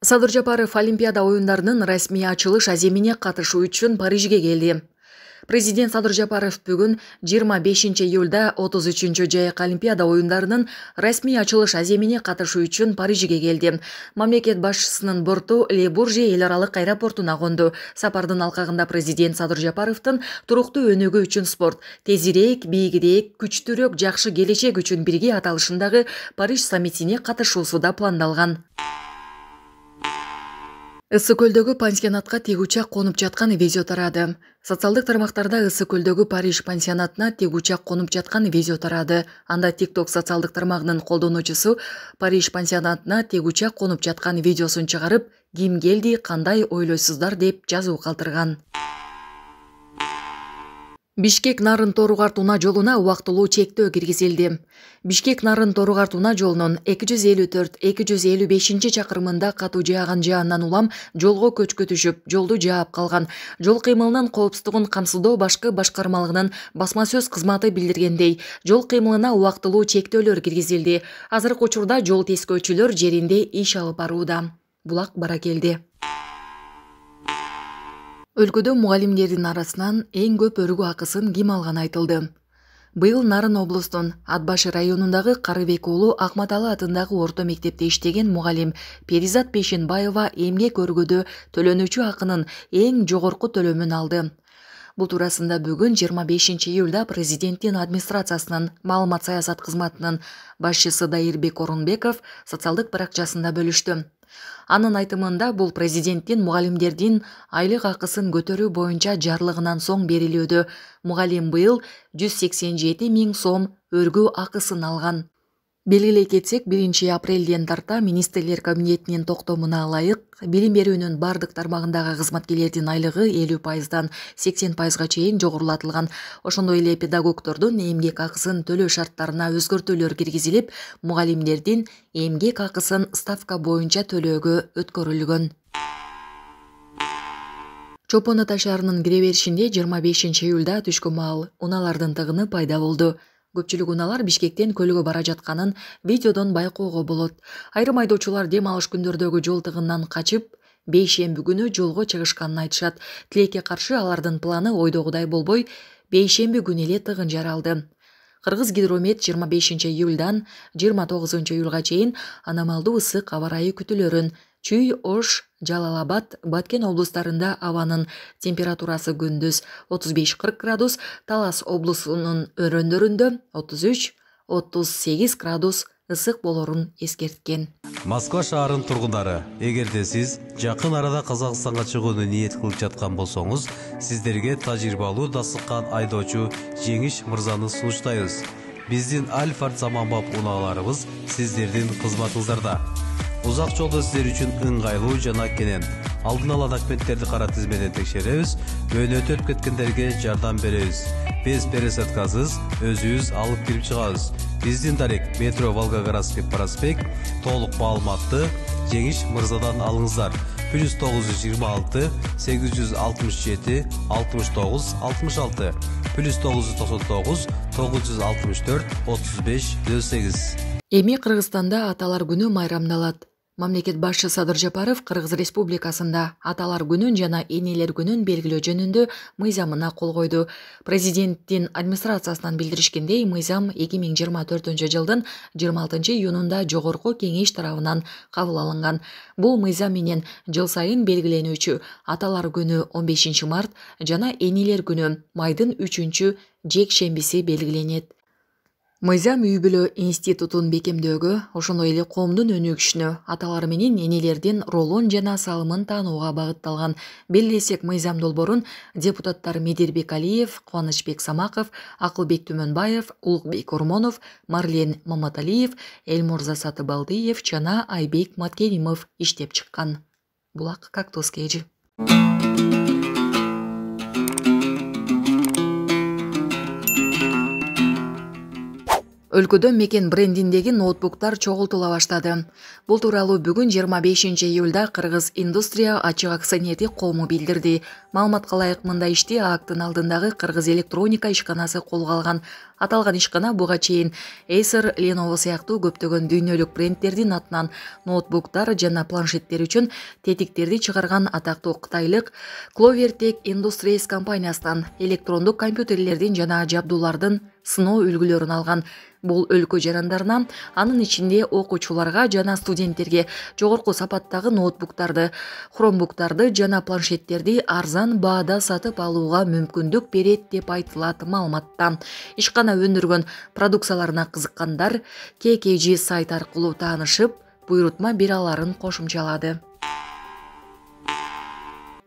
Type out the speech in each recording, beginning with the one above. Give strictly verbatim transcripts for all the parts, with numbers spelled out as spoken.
Садыр Жапаров Олимпиада оюндарынын расмий ачылыш аземине катышуу үчүн Парижге келди. Президент Садыр Жапаров бүгүн жыйырма бешинчи июлда отуз үчүнчү жайкы Олимпиада оюндарынын расмий ачылыш аземине катышуу үчүн Парижге келди. Мамлекет башчысынын борту Ле Бурже эл аралык аэропортуна конду. Сапардын алкагында президент Садыр Жапаровдун туруктуу өнүгүү үчүн спорт, тезирээк, бийигирээк, күчтүүрөөк, жакшы келечек үчүн бирге аталышындагы Париж саммитине катышуусу да пландалган. Ысык көлдөгү пансионатка тигучак конуп жаткан видео тарады. Социалдык тармактарда Ысык көлдөгү Париж пансионатына тигучак конуп жаткан видео тарады. Анда TikTok социалдык тармагынын колдонуучусу Париж пансионатына тигучак конуп жаткан видеосун чыгарып, ким келди, кандай ойлойсуздар деп жазуу калтырган. Бишкек Нарын Торугарт унаа жолуна убактылуу чектөө киргизилди. Бишкек Нарын Торугарт унаа жолунун эки жүз элүү төрт эки жүз элүү бешинчи чакырымында катуу жааган жаандан улам жолго көчкү түшүп, жолду жаап калган. Жол кыймылынын коопсуздугун камсыздоо башкы башкармалыгынын басма сөз кызматы билдиргендей, жол кыймылына убактылуу чектөөлөр киргизилди. Азыркы учурда жол тескөөчүлөр жеринде иш алып барууда. Булак баракелди. Өлкөдө мугалимдердин арасынан эң көп өргүү акысын ким алганы айтылды. Быйыл Нарын облустун Ат башы районундагы Карыбек уулу Акматалы атындагы орто мектепте иштеген мугалим Перизат Пешенбаева эмгек өргөдө төлөнүүчү акынын эң жогорку төлөмүн алды. Бул туурасында бүгүн жыйырма бешинчи июлда президенттин администрациясынын маалымат саясат кызматынын башчысы Дайырбек Орунбеков социалдык баракчасында бөлүштү. Анын айтымында бул президенттин мугалимдердин айлык акысын көтөрүү боюнча жарлыгынан соң берилүүдө. Мугалим быйыл жүз сексен жети миң сом өргүү акысын алган. Белгилей кетсек, биринчи апрелден тарта министрлер кабинетинин токтомуна ылайык билим берүүнүн бардык тармагындагы кызматкерлердин айлыгы элүү пайыздан сексен пайызга чейин жогорулатылган. Ошондой эле педагогдордун эмгек акысын төлөө шарттарына өзгөртүүлөр киргизилип, мугалимдердин эмгек акысын ставка боюнча төлөөгө өткөрүлгөн. Чопон Ата шаарынын кире беришинде жыйырма бешинчи июлда түшкү маал унаалардын тыгыны пайда болду. Көпчүлүк унаалар Бишкектен көлгө бара жатканын видеодон байкоого болот. Айрым айдоочулар дем алыш күндөрдөгү жол тыгынынан качып, бейшемби күнү жолго чыгышканын айтышат. Тилекке каршы алардын планы ойдогудай болбой, бейшемби күнү эле тыгын жаралды. Кыргыз гидромет жыйырма бешинчи июлдан жыйырма тогузунчу июлга чейин аномалдуу ысык аба ырайы күтүлөрүн, Чүй, Ош, Жалал-Абад, Баткен облустарында абанын температурасы күндүз отуз беш кырк градус, Талас облусунун өрөөндөрүндө отуз үч отуз сегиз градус ысык болорун эскерткен. Москва шаарынын тургундары, эгерде сиз жакын арада Казакстанга чыгууну ниет кылып жаткан болсоңуз, сиздерге тажрыйбалуу дасыккан айдоочу Жеңиш мырзаны сунуштайбыз. Биздин Альфард заманбап унааларыбыз сиздердин кызматыңыздарда. Узак жолдо сиздер үчүн ыңгайлуу жана кенен. Алдын ала документтерди кара тизмеден текшеребиз, мөөнөтү өтүп кеткендерге жардам беребиз. Без пересадкасыз өзүбүз алып кирип чыгабыз. Биздин дарек метро Волгоградский проспект, толук маалыматты Жеңиш мырзадан алыңыздар. плюс тогуз жүз жыйырма алты сегиз жүз алтымыш жети алтымыш тогуз алтымыш алты плюс тогуз жүз токсон тогуз тогуз жүз алтымыш төрт отуз беш нөл сегиз. Эми Кыргызстанда Аталар күнү майрамдалат. Мамлекет башчысы Садыр Жапаров Кыргыз Республикасында Аталар күнүн жана Энелер күнүн белгилөө жөнүндө мыйзамына кол койду. Президенттин администрациясынан билдиришкендей, мыйзам эки миң жыйырма төртүнчү жылдын жыйырма алтынчы июнунда жогорку кеңеш тарабынан кабыл алынган. Бул мыйзам менен жыл сайын белгиленүүчү Аталар күнү он бешинчи март жана Энелер күнү майдын үчүнчү жекшембиси белгиленет. Мыйзам үй-бүлө институтун бекемдөөгө, ошондой эле коомдун өнүгүшүнө, аталар менен энелердин ролун жана салымын таанууга багытталган. Белгилесек, мыйзам долбоорун депутаттар Медирбек Алиев, Кубанычбек Самаков, Акылбек Түмөнбаев, Улукбек Ормонов, Марлен Маматалиев, Элмурза Сатыбалдиев жана Айбек Маткеримов иштеп чыккан. Булак Кактус Кежи. өлкөдө мекен брендиндеги ноутбуктар чогултула баштады. Бул тууралуу бүгүн жыйырма бешинчи июлда Кыргыз индустрия ачык акционердик кому билдирди. Маалыматка ылайык мындай ишти ААКтын алдындагы Кыргыз электроника ишканасы колго алган. Аталган ишкана буга чейин Acer, Lenovo сыяктуу көптөгөн дүйнөлүк брендтердин атынан ноутбуктар жана планшеттер үчүн тетиктерди чыгарган атактуу кытайлык Clovertech Industries компаниясынан электрондук компьютерлердин жана жабдуулардын сыноо үлгүлөрүн алган. Бул өлкө жарандарына, анын ичинде окуучуларга жана студенттерге жогорку сапаттагы ноутбуктарды, хромбуктарды жана планшеттерди арзан баада сатып алууга мүмкүндүк берет деп айтылат маалыматта. Ишкана өндүргөн продукцияларына кызыккандар кей кей жи сайт аркылуу таанышып, буйрутма бере аларын кошумчалады.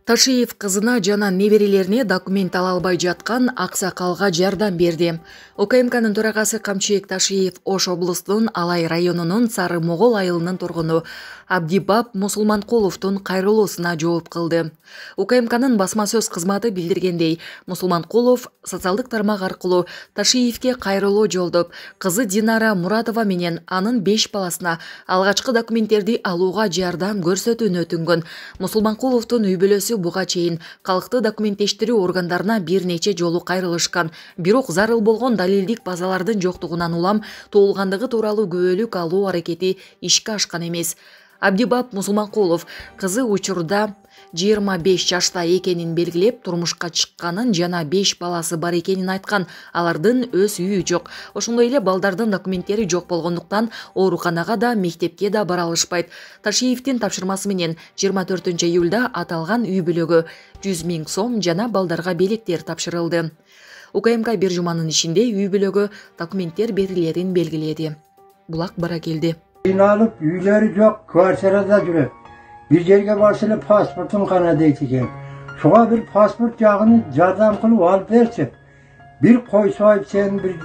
Ташиев кызына жана неберелерине документ ала албай жаткан аксакалга жардам берди. УКМКнын төрагасы Камчыбек Ташиев Ош облустунун Алай районунун Сары Могол айылынын тургуну Абдибап Мусулманкуловдун кайрылуусуна жооп кылды. УКМКнын басма сөз кызматы билдиргендей, Мусулманкулов социалдык тармак аркылуу Ташиевке кайрылуу жолдоп, кызы Динара Муратова менен анын беш баласына алгачкы документтерди алууга жардам көрсөтүүнү өтүнгөн. Мусулманкуловдун үй бүлөсү буга чейин калкты документтештирүү органдарына бир нече жолу кайрылышкан, бирок зарыл болгон далилдик базалардын жоктугунан улам туулгандыгы тууралуу күбөлүк алуу аракети ишке ашкан эмес. Абдибап Мусулманкулов кызы учурда жыйырма беш жашта экенин белгилеп, турмушка чыкканын жана беш баласы бар экенин айткан. Алардын өз үйү жок. Ошондой эле балдардын документтери жок болгондуктан ооруканага да, мектепке да бара алышпайт. Ташиевдин тапшырмасы менен жыйырма төртүнчү июлда аталган үй бүлөгө жүз миң сом жана балдарга белектер тапшырылды. УКМК бир жуманын ичинде үй бүлөгө документтер берилерин белгиледи. Булак бара келди. Алып, үйлері жоқ, квартирада жүрөт. Bir жерге барса эле паспортун гана дейт экен. Шуга bir паспорт жагын жардам кылып алып берчи. Bir койсойп сен bir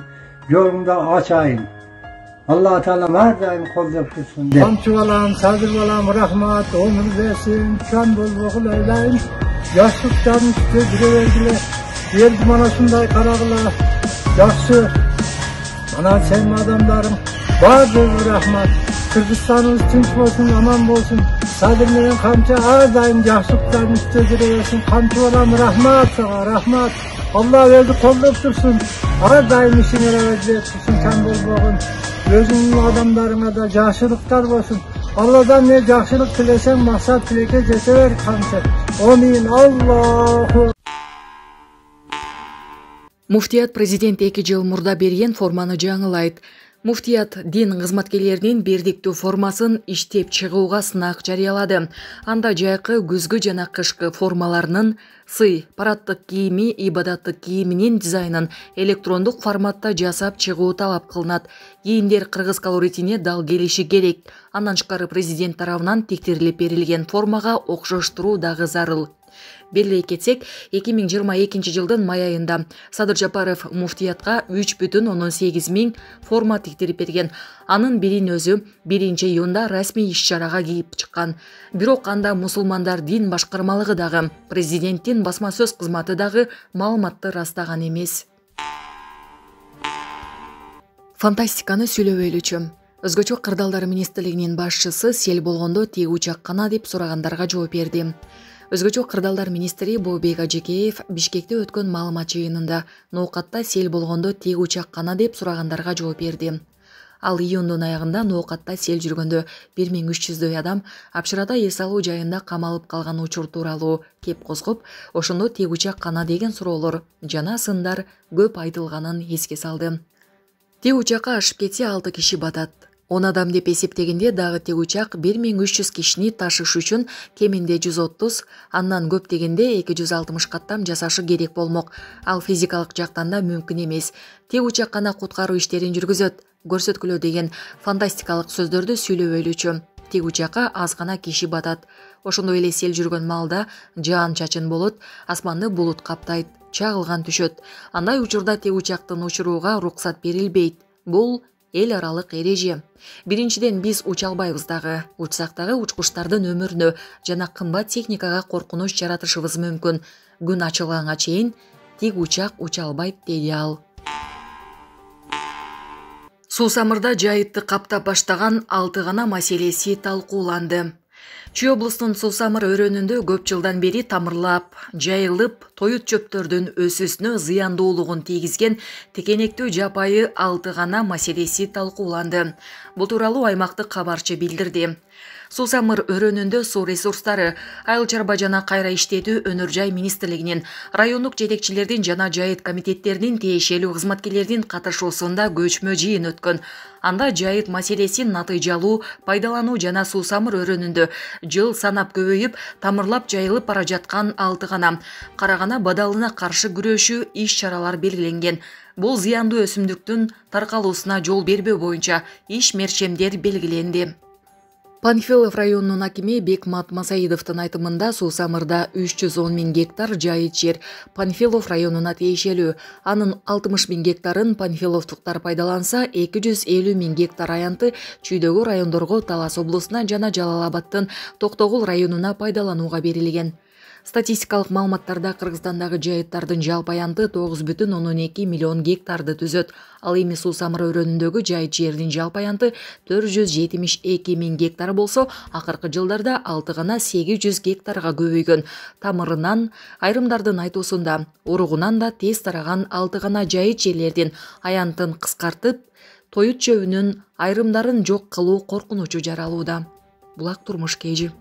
жолуңда ачайын. Алла Таала ар дайым колдоп турсун. Камчы балам, садыр балам, рахмат, өмүр берсин, жан болбогул айлайын. Жаштыктан үстө жүрө бергиле. Элди мана ушундай карагыла. Жакшы. Мана сен адамдарың баардыгы рахмат. Кыргызстаныбыз тынч болсун, аман болсун. Садыр менен камчы ар дайым жакшылыктан үстө жүрө берсин. Камчы балам, рахмат сага, рахмат. Алла өзү колдоп турсун. Ар дайым ишиңер өзүп турсун, жан болбогун. Өзүңдүн адамдарыңа да жакшылыктар болсун. Алладан не жакшылык тилесең, максат тилекке жете бер камчы. Амин. Аллаху. Муфтият президент эки жыл мурда берген форманы жаңылайт. Муфтият дин кызматкерлеринин бирдиктүү формасын иштеп чыгууга сынак жарыялады. Анда жайкы, күзгү жана кышкы формаларынын сый, параддык кийими, ибадаттык кийиминин дизайнын электрондук форматта жасап чыгуу талап кылынат. Кийимдер кыргыз колоритине дал келиши керек. Андан тышкары президент тарабынан тектирилип берилген формага окшоштуруу дагы зарыл. Белгилей кетсек, эки миң жыйырма экинчи жылдын май айында Садыр Жапаров муфтиятка үч бүтүн ондон сегиз миң форма тиктирип берген. Анын бирин өзү биринчи июнда расмий иш-чарага кийип чыккан. Бирок анда мусулмандар дин башкармалыгы дагы, президенттин басма сөз кызматы дагы маалыматты растаган эмес. Фантастиканы сүйлөбөйлүчү. Өзгөчө кырдаалдар министрлигинин башчысы сел болгондо тегүү чаккана деп сурагандарга жооп берди. Өзгөчө кырдаалдар министри Бообек Ажекеев Бишкекте өткөн маалымат жыйынында ноокатта сел болгондо тегүү чаккана деп сурагандарга жооп берди. Ал июндун аягында ноокатта сел жүргөндө бир миң үч жүздөй адам Апшырада эс алуу жайында камалып калган учур тууралуу кеп козгоп, ошондо тегүү чаккана деген суроолор жана сындар көп айтылганын эске салды. Тегүү чакка ашып кетсе алты киши батат. он адам деп эсептегенде дагы тегүү чак бир миң үч жүз кишини ташыш үчүн кеминде жүз отуз, андан көп дегенде эки жүз алтымыш каттам жасашы керек болмок. Ал физикалык жактан да мүмкүн эмес. Тегүү чаккана куткаруу иштерин жүргүзөт, көрсөткүлө деген фантастикалык сөздөрдү сүйлөбөйлүчү. Тегүү чакка аз гана киши батат. Ошондой эле сел жүргөн маалда жаан-чачын болот, асманды булут каптайт, чагылган түшөт. Андай учурда тегүү чактын учурууга уруксат берилбейт. Бул эл аралык эреже. Биринчиден биз уча албайбыз дагы. Учсак дагы учкучтардын өмүрүнө жана кымбат техникага коркунуч жаратышыбыз мүмкүн. Күн ачылганга чейин тик учак уча албайт, деди ал. Суу самырда жайытты каптап баштаган алты гана маселеси талкууланды. Чүй облусунун Суу самыр өрөөнүндө көп жылдан бери тамырлап, жайылып, тоют чөптөрдүн өсүүсүнө зыяндуулугун тийгизген текенектүү жапайы алты гана маселеси талкууланды. Бул тууралуу аймактык кабарчы билдирди. Суу самыр өрөөнүндө суу ресурстары, айыл чарба жана кайра иштетүү өнөр жай министрлигинин, райондук жетекчилердин жана жайыт комитеттеринин тиешелүү кызматкерлердин катышуусунда көчмө жыйын өткөн. Анда жайыт маселесин натыйжалуу пайдалануу жана Суу самыр өрөөнүндө жыл санап көбөйүп, тамырлап жайылып бара жаткан алты гана карагана бадалына каршы күрөшүү иш-чаралар белгиленген. Бул зыяндуу өсүмдүктүн таркалуусуна жол бербөө боюнча иш-мерчемдер белгиленди. Панфилов районунун акими Бекмат Масаидовдун айтымында Суу самырда үч жүз он миң гектар жайыт жер Панфилов районуна тиешелүү. Анын алтымыш миң гектарын панфиловдуктар пайдаланса, эки жүз элүү миң гектар аянты чүйдөгү райондорго Талас облусуна жана Жалал Абадтын Токтогул районуна пайдаланууга берилген. Статистикалык маалыматтарда Кыргызстандагы жайыттардын жалпы аянты тогуз бүтүн ондон эки миллион гектарды түзөт. Ал эми Суу самыр өрөөнүндөгү жайыт жердин жалпы аянты төрт жүз жетимиш эки миң гектар болсо, акыркы жылдарда алты гана сегиз жүз гектарга көбөйгөн. Тамырынан, айрымдардын айтуусунда, уругунан да тез тараган алты гана жайыт жерлердин аянтын кыскартып, тоют чөбүнүн айрымдарын жок кылуу коркунучу жаралууда. Булак Турмуш Кежи.